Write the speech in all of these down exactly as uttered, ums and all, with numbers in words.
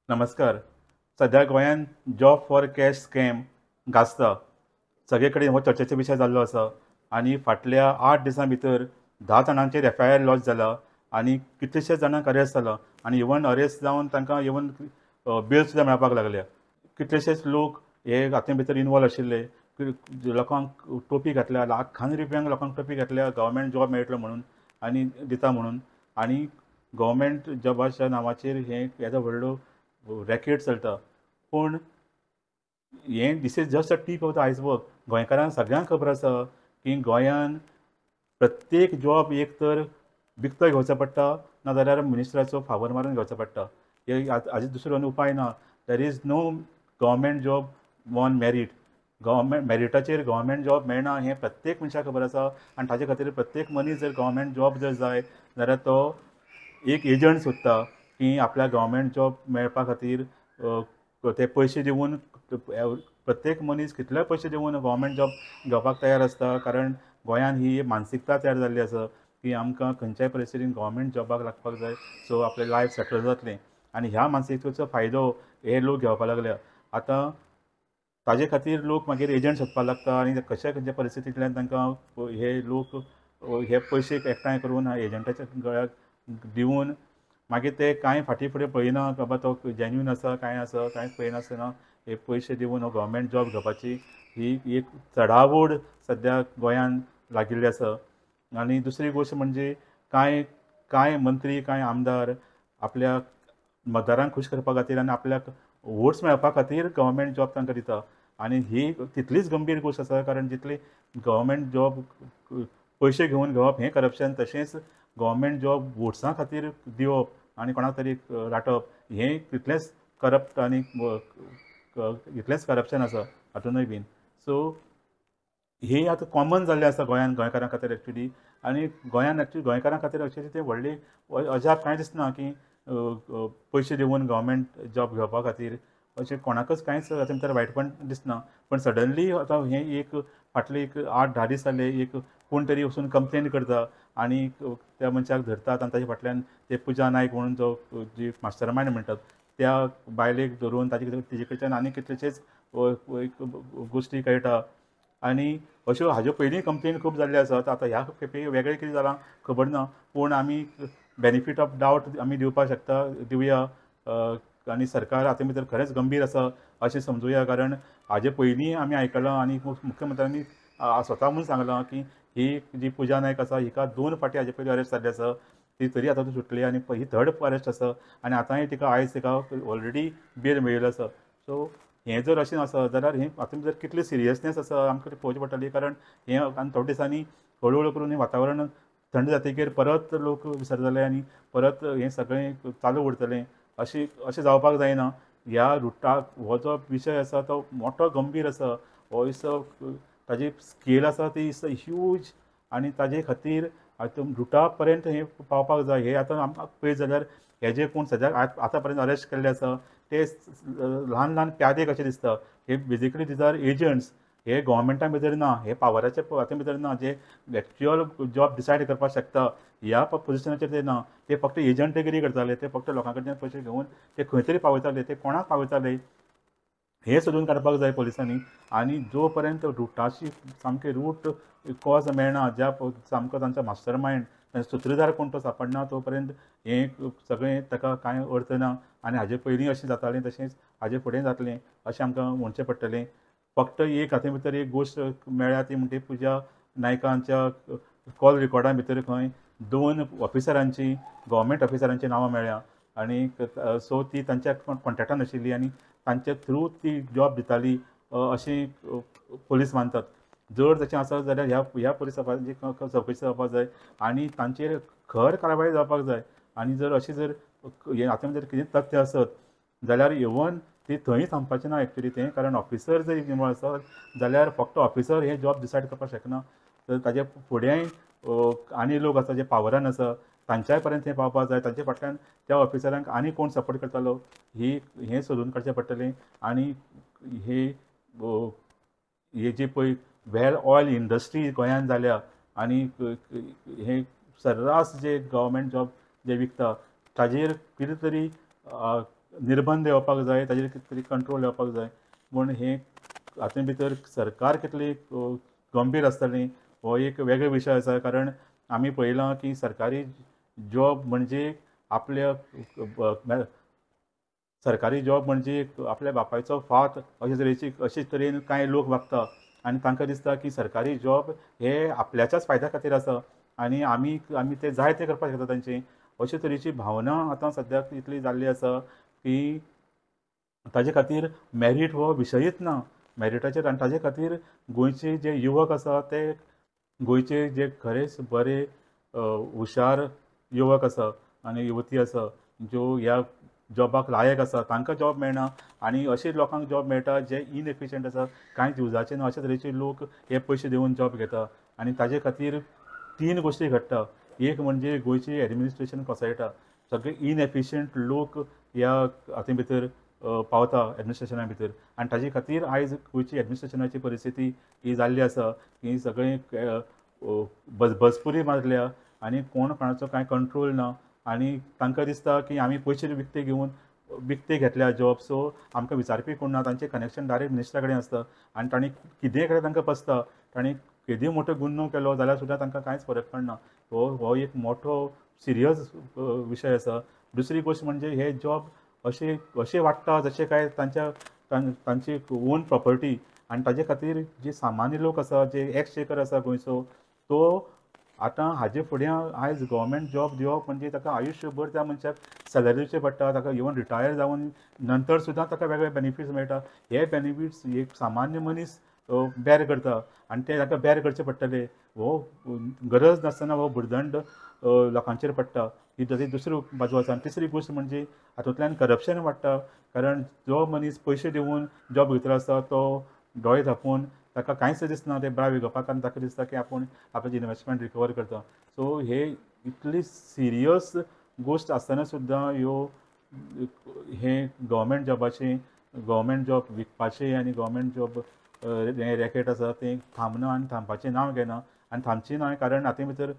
नमस्कार. सद्या गोंयांत जॉब फॉर कॅश स्कॅम गाजता. सगळे कडेन हो चर्चेचो विशय जाल्लो आसा आनी फाटल्या आठ दिसां भितर धा जाणांचेर एफ I R lodge जाला आनी कितलेशेच जाणांक अरेस्ट जाला आनी इवन अरेस्ट जावन तांकां इवन बेल सुद्दां मेळपाक लागल्या. कितलेशेच लोक हे हातूंत भितर इनवॉल्व आशिल्ले. लोकांक टोपी घातल्या, लाखांनी रुपयांक लोकांक टोपी घातल्या गव्हर्मेंट जॉब मेळटलो म्हणून आनी दिता म्हणून, आनी गव्हर्मेंट जॉबाच्या नांवाचेर हें येदो व्हडलो रॅकेट चलता. पूण हें this is just a tip of the iceberg. गोंयकारांक सगळ्यांक खबर आसा की गोंयान प्रत्येक जॉब एक तर विकतो घेवचो पडटा, नाजाल्यार मिनिस्टराचो फावर मारून घेवचो पडटा. हे हाजे दुसरो आनी उपाय ना. There is no government job on merit. Government मॅरिटाचेर government job मेळना हें प्रत्येक मनशाक खबर आसा आनी ताजे खातीर प्रत्येक मनीस जर गव्हर्मेंट जॉब जर जाय जाल्यार तो एक एजंट सोदता की आपल्याक गव्हर्मेंट जॉब मेळपा खातीर ते पयशे दिवन, प्रत्येक मनीस कितले पयशे दिवन गव्हर्मेंट जॉब घेवपाक तयार आसता. कारण गोंयांत ही मानसिकता तयार जाल्ली आसा की आमकां खंयच्याय परिस्थितीन गव्हर्मेंट जॉबाक लागपाक जाय, सो आपलें लायफ सेटल जातलें. आनी ह्या मानसिकतेचो फायदो हे लोक घेवपाक लागल्या. आतां ताजे खातीर लोक मागीर एजंट सोदपाक लागता आनी कश्या खंयच्या परिस्थितींतल्यान तांकां हे लोक हे पयशे एकठांय करून एजंटाच्या गळ्याक दिवन मागीर ते कांय फाटीं फुडें पळयना बाबा तो जेन्युइन आसा कांय आसा, कांयच पळयनासतना हे पयशे दिवन हो गव्हर्मेंट जॉब घेवपाची ही एक चडाओड सद्या गोंयांत लागिल्ली आसा. आनी दुसरी गोश्ट म्हणजे कांय कांय मंत्री, कांय आमदार आपल्या मतदारांक खूश करपा खातीर आनी आपल्याक वोट्स मेळपा खातीर गव्हर्मेंट जॉब तांकां दिता. आनी ही तितलीच गंभीर गोश्ट आसा, कारण जितली गव्हर्मेंट जॉब पयशे घेवन घेवप हें करप्शन, तशेंच गव्हर्मेंट जॉब वोट्सां खातीर दिवप आनी कोणाक तरी राटप हें तितलेंच करप्ट आनी इतलेंच करप्शन आसा हातूनय बीन. सो हे आतां कॉमन जाल्लें आसा गोंयांत गोंयकारां खातीर एक्चुली. आनी गोंयांत एक्चुली गोंयकारां खातीर एक्चुली तें व्हडलें अजाप कांय दिसना की पयशे दिवन गव्हर्मेंट जॉब घेवपा खातीर अशें कोणाकच कांयच हातूंत भितर वायटपण दिसना. पण सडनली आतां हें एक फाटले एक आठ धा दीस जाले एक कोण तरी वचून कंप्लेन करता आनी त्या मनशाक धरतात आनी ताजे फाटल्यान ते पुजा नायक म्हणून जो जी मास्टर मायंड म्हणटात त्या बायलेक धरून ताजे तिजे कडच्यान आनी कितलेशेच गोश्टी कळटा. आनी अश्यो हाज्यो पयलीं कंप्लेन खूब जाल्ल्यो आसात. आतां ह्या खेपे वेगळें कितें जालां खबर ना, पूण आमी बेनिफीट ऑफ डावट आमी दिवपाक शकता, दिवया. आनी सरकार हातूंत भितर खरेंच गंभीर आसा अशें समजुया, कारण हाजे पयलीं आमी आयकलां आनी मुख्यमंत्र्यांनी स्वता म्हणून सांगलां की ही जी पुजा नायक आसा हिका दोन फावटी हाजे पयलीं अरेस्ट जाल्ली आसा, ती तरी आतां सुटली आनी ही थर्ड अरेस्ट आसा आनी आतांय तिका आयज तिका ऑलरेडी बेल मेळिल्लो आसा. सो हें जर अशें आसा जाल्यार हें हातूंत भितर कितली सिरियसनेस आसा आमकां ती पळोवची पडटली. कारण हें आनी थोड्या दिसांनी हळू हळू करून हें वातावरण थंड जातकीर परत लोक विसरतले आनी परत हें सगळें चालू उरतलें. अशें अशें जावपाक जायना. ह्या रुटाक हो जो विशय आसा तो मोटो गंभीर आसा, हो इसो ताजी स्केल आसा ती is huge आनी ताजे खातीर आतां रुटा पर्यंत हें पावपाक जाय. हें आतां आमकां पळयत जाल्यार हे जे कोण सद्याक आतां पर्यंत अरेस्ट केल्ले आसा ते ल्हान ल्हान प्यादे कशे दिसता. हे बेजिकली these are agents. हे गव्हर्मेंटा भितर ना, हे पावराच्या हातूंत भितर ना, जे एक्चुअल जॉब डिसायड करपाक शकता ह्या पोजिशनाचेर ते ना. ते फक्त एजंटगिरी करताले, ते फक्त लोकां कडच्यान पयशे घेवन ते खंय तरी पावयताले. ते कोणाक पावयताले हें सोदून काडपाक जाय पुलिसांनी. आनी जो पर्यंत रुटाची सामकें रूट कॉज मेळना, ज्या सामको तांचो मास्टर मायंड सुत्रधार कोण तो सापडना तो पर्यंत हें सगळें ताका कांय अर्थ ना. आनी हाजे पयलीं अशें जातालें तशेंच हाजे फुडें जातलें अशें आमकां म्हणचें पडटलें. फक्त एक हातूंत भितर एक गोश्ट मेळ्ळ्या ती म्हणटी पुजा नायकांच्या कॉल रिकॉर्डा भितर खंय दोन ऑफिसरांची, गव्हर्मेंट ऑफिसरांची नांवां मेळ्ळ्या आनी सो ती तांच्या कॉन्टेक्टान आशिल्ली आनी तांच्या थ्रू ती जॉब दिताली अशें पुलीस मानतात. जर तशें आसत जाल्यार ह्या ह्या पुलिसांची चवकशी जावपाक जाय आनी तांचेर खर कारवाय जावपाक जाय. आनी जर अशें जर हें हातूंत जर कितें तथ्य आसत जाल्यार इवन ती थंय थांबपाचें ना एक्चुली तें, कारण ऑफिसर जर इनवॉल्व आसत जाल्यार फक्त ऑफिसर हे जॉब डिसायड करपाक शकना, तर ताजे फुडेंय आनी लोक आसा जे पावरान आसा तांच्याय पर्यंत हें पावपाक जाय. तांचे फाटल्यान त्या ऑफिसरांक आनी कोण सपोर्ट करतालो ही हें सोदून काडचें पडटलें. आनी हे हे जी पळय वेल ऑयल इंडस्ट्री गोंयांत जाल्या आनी हे सर्रास जे गव्हर्मेंट जॉब जे विकता ताजेर कितें तरी निर्बंध येवपाक जाय, ताजेर कितें तरी कंट्रोल येवपाक जाय. पूण हें हातूंत भितर सरकार कितली गंभीर आसतली हो एक वेगळो विशय आसा. कारण आमी पळयलां की सरकारी जॉब म्हणजे आपल्या सरकारी जॉब म्हणजे आपल्या बापायचो फात अशे तरेची अशे तरेन कांय लोक वागता आनी तांकां दिसता की सरकारी जॉब हे आपल्याच्याच फायद्या खातीर आसा आनी आमी आमी ते जाय ते करपाक शकता तांचे. अशे तरेची भावना आतां सद्याक इतली जाल्ली आसा की ताजे खातीर मॅरीट हो विशयच ना मॅरिटाचेर. आनी ताजे खातीर गोंयचे जे युवक आसा ते गोंयचे जे खरेंच बरे हुशार युवक आसा आनी युवती आसा ज्यो ह्या जॉबाक लायक आसा तांकां जॉब मेळना आनी अशे लोकांक जॉब मेळटा जे इनएफिशियंट आसा, कांयच युजाचे ना अशे तरेचे लोक हे पयशे दिवन जॉब घेता. आनी ताजे खातीर तीन गोश्टी घडटा. एक म्हणजे गोंयची एडमिनिस्ट्रेशन कोसळटा, सगळे इनएफिशियंट लोक ह्या हातूंत भितर पावता एडमिनिस्ट्रेशना भितर आनी ताजे खातीर आयज गोंयची एडमिनिस्ट्रेशनाची परिस्थिती ही जाल्ली आसा की सगळें बजबजपुरी मारल्या आनी कोण कोणाचो कांय कंट्रोल ना आनी तांकां दिसता की आमी पयशे विकते घेवन विकते घेतल्या जॉब, सो आमकां विचारपी कोण ना. तांचें कनेक्शन डायरेक्ट मिनिस्टरा कडेन आसता आनी तांणी कितेंय केल्यार तांकां पसता. तांणी केदीय मोठो गुन्यांव केलो जाल्यार सुद्दां तांकां कांयच फरक पडना. हो हो एक मोठो सिरियस विशय आसा. दुसरी गोश्ट म्हणजे हे जॉब अशे अशे वाडटा जशे काय तांच्या तांची ओन प्रॉपर्टी आनी ताजे खातीर जे सामान्य लोक आसा, जे एक्सचेकर आसा गोंयचो, तो आतां हाजे फुडें आयज गव्हर्मेंट जॉब दिवप म्हणजे ताका आयुश्यभर त्या मनशाक सॅलरी दिवचें पडटा. ताका इवन रिटायर जावन नंतर सुद्दां ताका वेगळे बेनिफिट्स मेळटा. हे बेनिफिट्स एक सामान्य मनीस बॅर करता आनी ते ताका बॅर करचे पडटले. हो गरज नासतना हो भुरदंड लोकांचेर पडटा. ही ताची दुसरी बाजू आसा. आनी तिसरी गोश्ट म्हणजे हातूंतल्यान करप्शन वाडटा. कारण जो मनीस पयशे दिवन जॉब भितर आसता तो दोळे धांपून ताका कांयच दिसना, ते ब्राव घेवपाक आनी ताका दिसता की आपूण आपल्याची इनवेस्टमेंट रिकवर करता. सो हे इतली सिरियस गोश्ट आसतना सुद्दां ह्यो हे गव्हर्मेंट जॉबाचे गव्हर्मेंट जॉब विकपाचे आनी गव्हर्मेंट जॉब हें रॅकेट आसा तें थांबना आनी थांबपाचें नांव घेना आनी थांबचें ना. कारण हातूंत भितर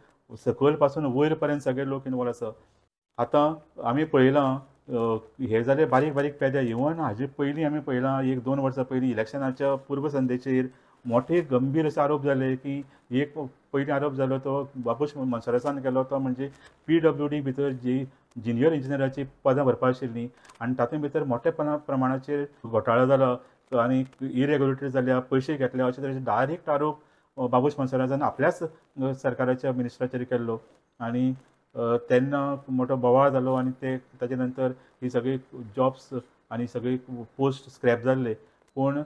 सकयल पासून वयर पर्यंत सगळे लोक इनवॉल्व आसा. आतां आमी पळयलां हे जाले बारीक बारीक पेदे. इवन हाजे पयलीं आमी पळयलां एक दोन वर्सां पयलीं इलेक्शनाच्या पूर्वसंध्येचेर मोठे गंभीर अशे आरोप जाले की एक पयलीं आरोप जालो तो बाबूश मोन्सेरातान केलो तो म्हणजे पी डब्ल्यू डी भितर जी ज्युनियर इंजिनियराची पदां भरपा आशिल्लीं आनी तातूंत भितर मोठ्या प्रमाणाचेर घोटाळो जाला आनी इरेग्युलरिटी जाल्या, पयशे घेतले अशे तरेचे डायरेक्ट आरोप बाबूश मोन्सेरातान आपल्याच सरकाराच्या मिनिस्टराचेर केल्लो आनी तेन्ना मोठो बोवाळ जालो आनी ते ताजे नंतर ही सगळी जॉब्स आनी सगळी पोस्ट स्क्रॅप जाल्ले. पूण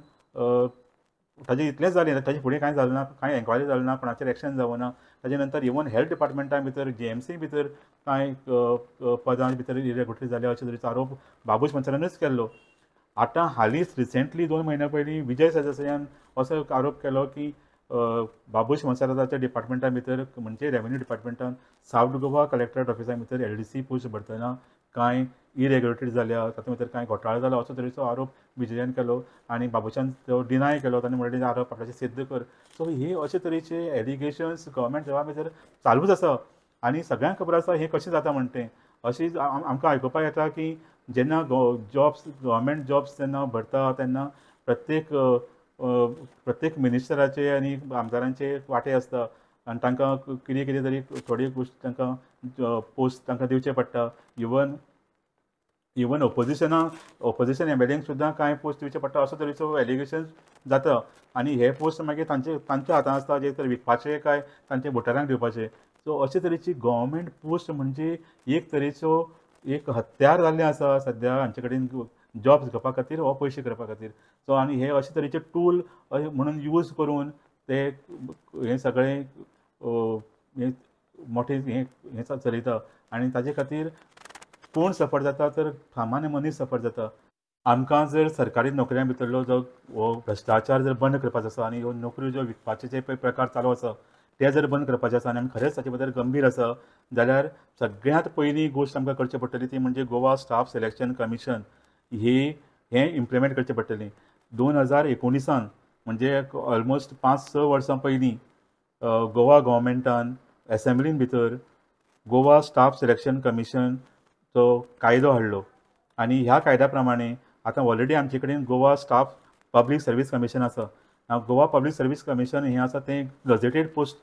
ताजें इतलेंच जालें, ताजे फुडें कांय जालें ना, कांय एन्क्वायरी जाली ना, कोणाचेर एक्शन जावं ना. ताजे नंतर इवन हेल्थ डिपार्टमेंटा भितर जी एम सी भितर कांय पदां भितर इरेग्युलरिटी जाल्या अशे तरेचो आरोप बाबूश मोन्सेरातानूच केल्लो. आतां हालींच रिसेंटली दोन म्हयन्या पयलीं विजय सरदेसायान असो एक आरोप केलो की बाबूश मोन्सेराताच्या डिपार्टमेंटा भितर म्हणजे रेवेन्यू डिपार्टमेंटान सावथ गोवा कलेक्टरेट ऑफिसा भितर एल डी सी पोस्ट भरतना कांय इरेग्युलरिटी जाल्या, तातूंत भितर कांय घोटाळो जाला असो तरेचो आरोप विजयान केलो आनी बाबूशान तो डिनाय केलो. ताणें म्हणलें आरोप आपल्याचे सिद्ध कर. सो हे अशे तरेचे एलिगेशन्स गव्हर्मेंट जॉबा भितर चालूच आसा आनी सगळ्यांक खबर आसा हें कशें जाता म्हण तें. अशी आमकां आयकुपाक येता की जेन्ना जॉब्स गव्हर्मेंट जॉब्स जेन्ना भरता तेन्ना प्रत्येक प्रत्येक मिनिस्टराचे आनी आमदारांचे वांटे आसता आनी तांकां कितें कितें तरी थोडी गोश्ट तांकां पोस्ट तांकां दिवचे पडटा. इवन इवन ओपोजिशना ओपोजिशन एम एल एंक सुद्दां कांय पोस्ट दिवचे पडटा असो तरेचो एलिगेशन जाता आनी हे पोस्ट मागीर तांचे तांच्या हातान आसता जे तर विकपाचे काय तांचे वोटरांक दिवपाचे. सो अशे तरेची गव्हर्मेंट पोस्ट म्हणजे एक तरेचो एक हत्यार जाल्लें आसा सद्या हांचे कडेन जॉब्स घेवपा खातीर वा पयशे करपा खातीर. सो आनी हे अशे तरेचे टूल म्हणून यूज करून ते हें सगळें हें मोठें हें हें चलयता आनी ताजे खातीर कोण सफर जाता तर सामान्य मनीस सफर जाता. आमकां जर सरकारी नोकऱ्यां भितरलो जो हो भ्रश्टाचार जर बंद करपाचो आसा आनी ह्यो नोकऱ्यो ज्यो विकपाचे जे पळय प्रकार चालू आसा ते जर बंद करपाचे आसा आनी आमी खरेंच ताचे बद्दल गंभीर आसा जाल्यार सगळ्यांत पयली गोश्ट आमकां करची पडटली ती म्हणजे गोवा स्टाफ सिलेक्शन कमिशन ही हें इम्प्लिमेंट करचें पडटलें. दोन हजार एकोणिसान म्हणजे ऑलमोस्ट पांच स वर्सां पयलीं गोवा गव्हर्मेंटान एसेंब्लीन भितर गोवा स्टाफ सिलेक्शन कमिशनचो कायदो हाडलो आनी ह्या कायद्या प्रमाणे आतां ऑलरेडी आमचे कडेन Goa staff public service commission आसा. गोवा पब्लीक सर्वीस कमिशन हें आसा तें गजेटेड पोस्ट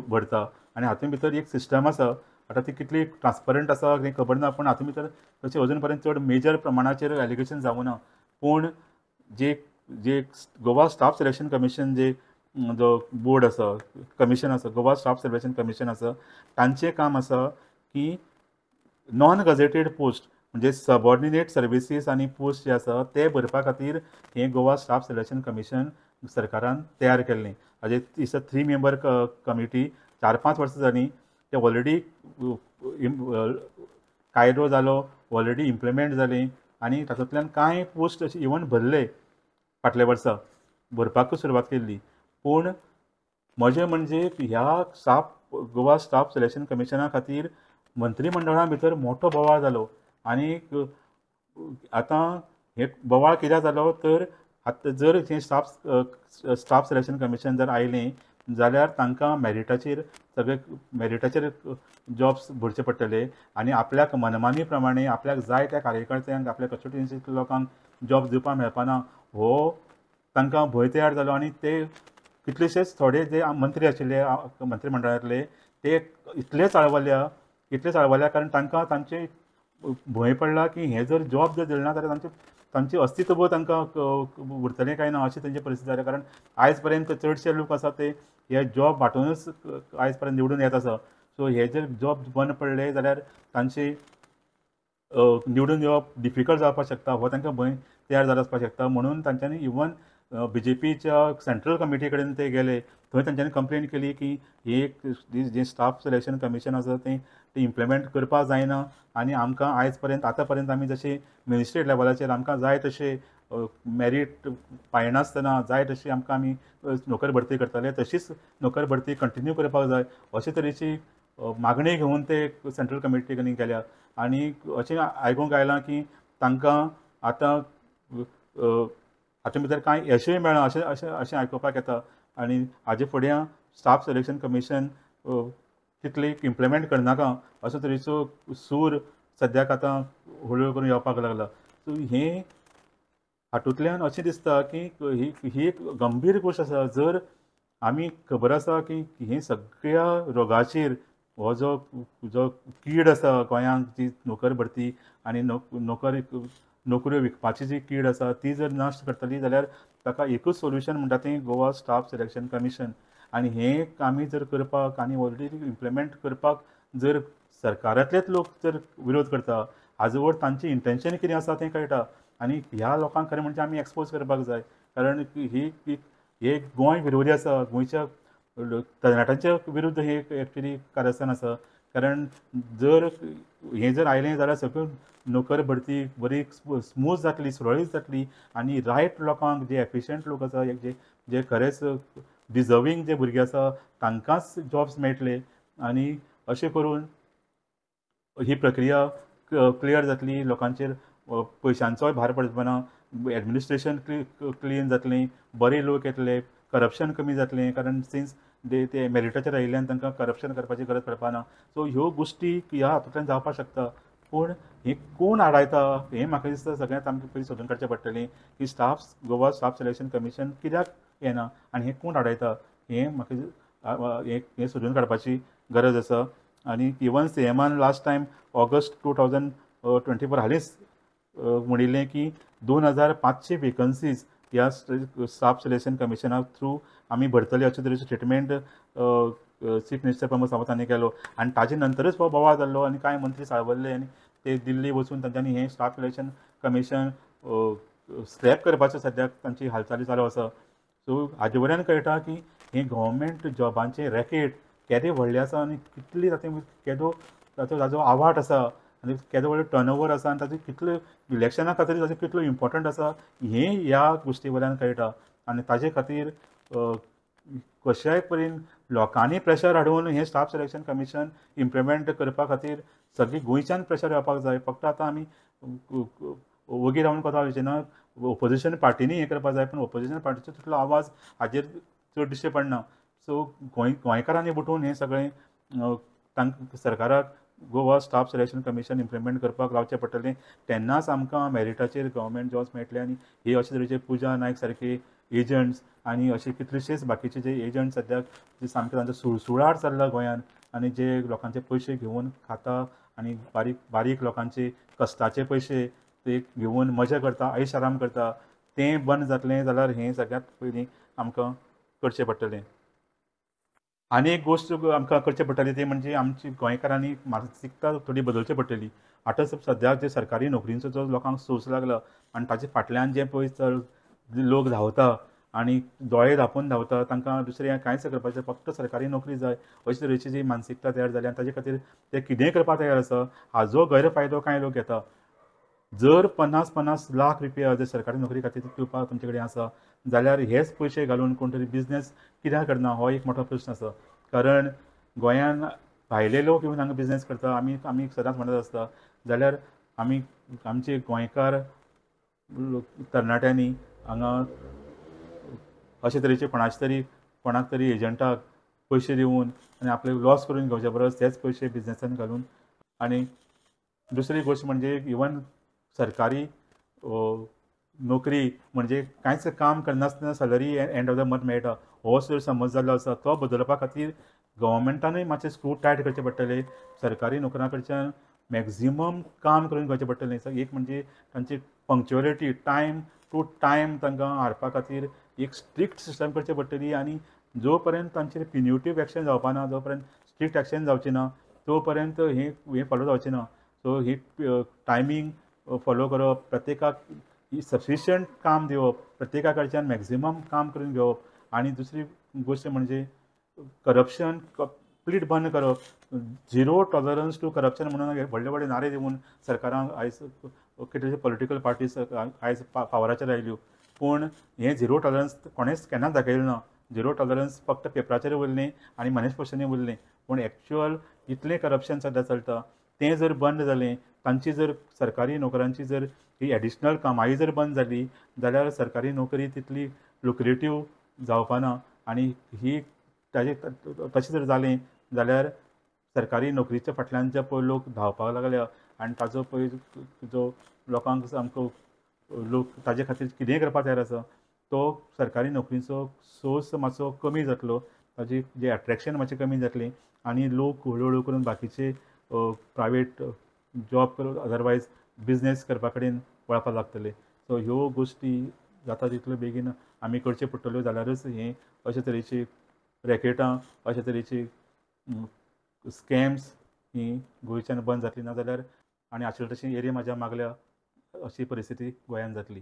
भरता आनी हातूंत भितर एक सिस्टम आसा. आतां ती कितली ट्रान्सपरंट आसा तें खबर ना, पूण हातूंत भितर तशें अजून पर्यंत चड मेजर प्रमाणाचेर एलिगेशन जावूं ना. पूण जे जे गोवा स्टाफ सिलेक्शन कमिशन जे जो बोर्ड आसा, कमिशन आसा, गोवा स्टाफ सिलेक्शन कमिशन आसा, तांचें काम आसा की नॉन गजेटेड पोस्ट म्हणजे सबॉर्डिनेट सर्विसीस आनी पोस्ट जे आसा ते भरपा खातीर हें गोवा स्टाफ सिलेक्शन कमिशन सरकारान तयार केल्लें. हाजेर it's a three member committee चार पांच वर्सां जालीं ते ऑलरेडी कायदो जालो, ऑलरेडी इम्प्लिमेंट जाली आनी तातूंतल्यान कांय पोस्ट अशे इवन भरले फाटल्या वर्सा भरपाकूच सुरवात केल्ली. पूण म्हजें म्हणजे ह्या स्टाफ गोवा स्टाफ सिलेक्शन कमिशना खातीर मंत्रीमंडळा भितर मोठो बोवाळ जालो आनी आतां हे बोवाळ कित्याक जालो तर आतां जर हें स्टाफ स्टाफ सिलेक्शन कमिशन जर आयलें जाल्यार तांकां मॅरिटाचेर सगळे मॅरिटाचेर जॉब्स भरचे पडटले आनी आपल्याक मनमानी प्रमाणे आपल्याक जाय त्या कार्यकर्त्यांक आपल्या कॉन्स्टिट्युएन्सींतल्या लोकांक जॉब्स दिवपाक मेळपाना हो तांकां भंय तयार जालो. आनी ते कितलेशेच थोडे जे मंत्री आशिल्ले मंत्रीमंडळांतले ते इतले चाळवल्या इतले चाळवल्या कारण तांकां तांचे भंय पडला की हें जर जॉब जर दिलें ना जाल्यार तांचे तांचें अस्तित्व तांकां उरतलें काय ना अशी तांची परिस्थिती जाल्या. कारण आयज पर्यंत चडशे लोक आसा ते हे जॉब वांटूनच आयज पर्यंत निवडून येत आसा. सो हे जर जॉब बंद पडले जाल्यार तांचे निवडून येवप डिफिकल्ट जावपाक शकता, हो तांकां भंय तयार जालो आसपाक शकता. म्हणून तांच्यांनी इवन बी जे पीच्या सेंट्रल कमिटी कडेन ते गेले, थंय तांच्यांनी कंप्लेन केली की ही एक जें स्टाफ सिलेक्शन कमिशन आसा तें तें इम्प्लिमेंट करपाक जायना आनी आमकां आयज पर्यंत आतां पर्यंत आमी जशें मिनिस्ट्री लेवलाचेर आमकां जाय तशें मॅरीट पायनासतना जाय तशी आमकां आमी नोकर भरती करताले तशीच नोकर भरती कंटिन्यू करपाक जाय अशे तरेची मागणी घेवन ते सेंट्रल कमिटी कडेन गेल्या. आनी अशें आयकूंक आयलां की तांकां आतां हातूंत भितर कांय यशूय मेळ्ळां अशें अशें अशें आयकुपाक येता. आनी हाजे फुडें स्टाफ सिलेक्शन कमिशन तितली इम्प्लिमेंट करनाका असो तरेचो सूर सद्याक आतां हळू करून येवपाक लागला. सो हें हातूंतल्यान अशें दिसता की ही ही एक गंभीर गोश्ट आसा. जर आमी खबर आसा की हे सगळ्या रोगाचेर हो जो जो कीड आसा गोंयांत जी नोकर भरती आनी नोकर नोकऱ्यो विकपाची जी कीड आसा ती जर नश्ट करतली जाल्यार ताका एकूच सोल्युशन म्हणटा तें गोवा स्टाफ सिलेक्शन कमिशन. आनी हें आमी जर करपाक आनी ऑलरेडी इम्प्लिमेंट करपाक जर सरकारांतलेच लोक जर विरोध करता हाजो वयर तांचें इंटेंशन कितें आसा तें कळटा. आनी ह्या लोकांक खरें म्हणजे आमी एक्सपोज करपाक जाय, कारण ही हे गोंय विरोधी आसा, गोंयच्या तरणाट्यांच्या विरुद्ध हे एक्चुली कारस्थान आसा. कारण जर हें जर आयलें जाल्यार सगळ्यो नोकर भरती बरी स्मूथ जातली, सुरळीत जातली आनी रायट लोकांक जे एफिशियंट लोक आसा, जे जे खरेंच डिजर्वींग जे भुरगे आसा तांकांच जॉब्स मेळटले आनी अशें करून ही प्रक्रिया क्लियर जातली, लोकांचेर पयशांचोय भार पडचो ना, एडमिनिस्ट्रेशन क्लीन जातलें, बरे लोक येतले, करप्शन कमी जातलें, कारण सिन्स ते ते मॅरिटाचेर आयिल्ल्यान तांकां करप्शन करपाची गरज पडपा ना. सो ह्यो गोश्टी ह्या हातूंतल्यान जावपाक शकता. पूण हें कोण आडायता हें म्हाका दिसता सगळ्यांत आमकां पयलीं सोदून काडचें पडटलें की staff Goa staff selection commission कित्याक येना आनी हें कोण आडायता हें म्हाका हें सोदून काडपाची गरज आसा. आनी इवन सी एमान last time August two thousand twenty four हालींच म्हणिल्लें की दोन हजार पांचशे वेकन्सीज ह्या स्टाफ सिलेक्शन कमिशना थ्रू आमी भरतले अशे तरेचो statement chief minister Pramod Sawant हांणी केलो. आनी ताजे नंतरच हो बोवाळ जाल्लो आनी कांय मंत्री साळवल्ले आनी ते दिल्ली वचून तांच्यांनी हें स्टाफ सिलेक्शन कमिशन स्क्रॅप करपाचें सद्याक तांची हालचाली चालू आसा. सो हाजे वयल्यान कळटा की हें गव्हर्मेंट जॉबांचें रॅकेट केदें व्हडलें आसा आनी कितली तातूंत केदो ताचो ताजो आवाट आसा आनी केदो व्हडलो टर्नओवर आसा आनी ताचो कितलो इलेक्शना खातीर ताचो कितलो इम्पोर्टंट आसा हें ह्या गोश्टी वयल्यान कळटा. आनी ताजे खातीर कशाय परीन लोकांनी प्रेशर हाडून हें स्टाफ सिलेक्शन कमिशन इम्प्लिमेंट करपा खातीर सगळीं गोंयच्यान प्रेशर येवपाक जाय. फक्त आतां आमी वगी रावन कोता वयचें ना, ओपोजिशन पार्टींनी हें करपाक जाय, पूण ओपोजिशन पार्टीचो तितलो आवाज हाजेर चड दिश्टी पडना. सो गोंय गोंयकारांनी उठून हें सगळें तांकां सरकाराक Goa staff selection commission implement करपाक लावचें पडटलें, तेन्नाच आमकां मेरिटाचेर गव्हर्मेंट जॉब्स मेळटले. आनी हे अशे तरेचे पुजा नायक सारके एजंट्स आनी अशे कितलेशेच बाकीचे जे एजंट सद्याक जे सामके तांचो सुळसुळाट चल्ला गोंयान आनी जे लोकांचे पयशे घेवन खाता आनी बारीक बारीक लोकांचे कश्टाचे पयशे ते घेवन मजा करता, ऐश आराम करता, तें बंद जातलें जाल्यार हें सगळ्यांत पयलीं आमकां करचें पडटलें. आनी एक गोश्ट आमकां करचें पडटली ती म्हणजे आमची गोंयकारांनी मानसिकता थोडी बदलची पडटली. आतां सद्याक जे सरकारी नोकरींचो जो लोकांक सोर्स लागला आनी ताचे फाटल्यान जे पळय चल लोक धांवता आनी दोळे धांपून धांवता, तांकां दुसरें कांयच करपाचें, फक्त सरकारी नोकरी जाय अशे तरेची जी मानसिकता तयार जाली आनी ताजे खातीर ते कितेंय करपाक तयार आसा. हाजो गैरफायदो कांय लोक घेता. जर पन्नास पन्नास लाख रुपया जर सरकारी नोकरी खातीर दिवपाक तुमचे कडेन आसा जाल्यार हेच पयशे घालून कोण तरी बिजनेस कित्याक करना हो एक मोठो प्रस्न आसा. कारण गोंयान भायले लोक येवन हांगा बिजनेस करता, आमी आमी सदांच म्हणत आसता, जाल्यार आमी आमचे गोंयकार तरणाट्यांनी हांगा अशे तरेचे कोणाचे तरी कोणाक तरी एजंटाक पयशे दिवन आनी आपले लॉस करून घेवचे परस तेच पयशे बिजनेसान घालून. आनी दुसरी गोश्ट म्हणजे इवन सरकारी नोकरी म्हणजे कांयच काम करनासतना salary end of the month मेळटा हो जर समज जाल्लो आसा तो बदलपा खातीर गव्हर्मेंटानूय मातशें स्क्रू टायट करचें पडटलें. सरकारी नोकरां कडच्यान मॅक्झिमम काम करून घेवचें पडटलें. एक म्हणजे तांची पंक्च्युअलिटी, टायम टू टायम तांकां हाडपा खातीर एक स्ट्रिक्ट सिस्टम करची पडटली. आनी जो पर्यंत तांचेर प्युनिटीव एक्शन जावपा ना, जो पर्यंत स्ट्रिक्ट एक्शन जावची ना, तो पर्यंत हें हें फॉलो जावचें ना. सो ही टायमींग फॉलो करप, प्रत्येकाक सफिशियंट काम दिवप, प्रत्येका कडच्यान मॅक्झिमम काम करून घेवप. आनी दुसरी गोश्ट म्हणजे करप्शन कंप्लीट बंद करप, झिरो टॉलरन्स टू करप्शन म्हणून व्हडले व्हडले नारे दिवन सरकारान आयज कितलेशे पॉलिटिकल पार्टीज आयज पावराचेर आयल्यो, पूण हें झिरो टॉलरन्स कोणेंच केन्नाच दाखयलें ना. झिरो टॉलरन्स फक्त पेपराचेर उरलें आनी मॅनिफेस्टोनी उरलें, पूण एक्चुअल इतलें करप्शन सद्या चलता तें जर बंद जालें, तांची जर सरकारी नोकरांची जर ही एडिशनल कामाई जर बंद जाली जाल्यार सरकारी नोकरी तितली लुक्रेटीव जावपाना. आनी ही ताजे तशें जर जालें जाल्यार सरकारी नोकरीच्या फाटल्यान जे पळय लोक धांवपाक लागल्या आनी ताजो पळय जो लोकांक सामको लोक ताजे खातीर कितेंय करपाक तयार आसा तो सरकारी नोकरीचो सोर्स मातसो कमी जातलो, ताजी जे एट्रेक्शन मातशें कमी जातलें आनी लोक हळू हळू करून बाकीचे प्रायवेट जॉब करून अदरवायज बिजनेस करपा कडेन वळपाक लागतले. सो ह्यो गोश्टी जाता तितल्यो बेगीन आमी करच्यो पडटल्यो जाल्यारच हें अशे तरेची रॅकेटां, अशे तरेची स्कॅम्स ही गोंयच्यान बंद जातली, ना जाल्यार आनी आशिल्ले तशी एरिया म्हाज्या मागल्या अशी परिस्थिती गोंयान जातली.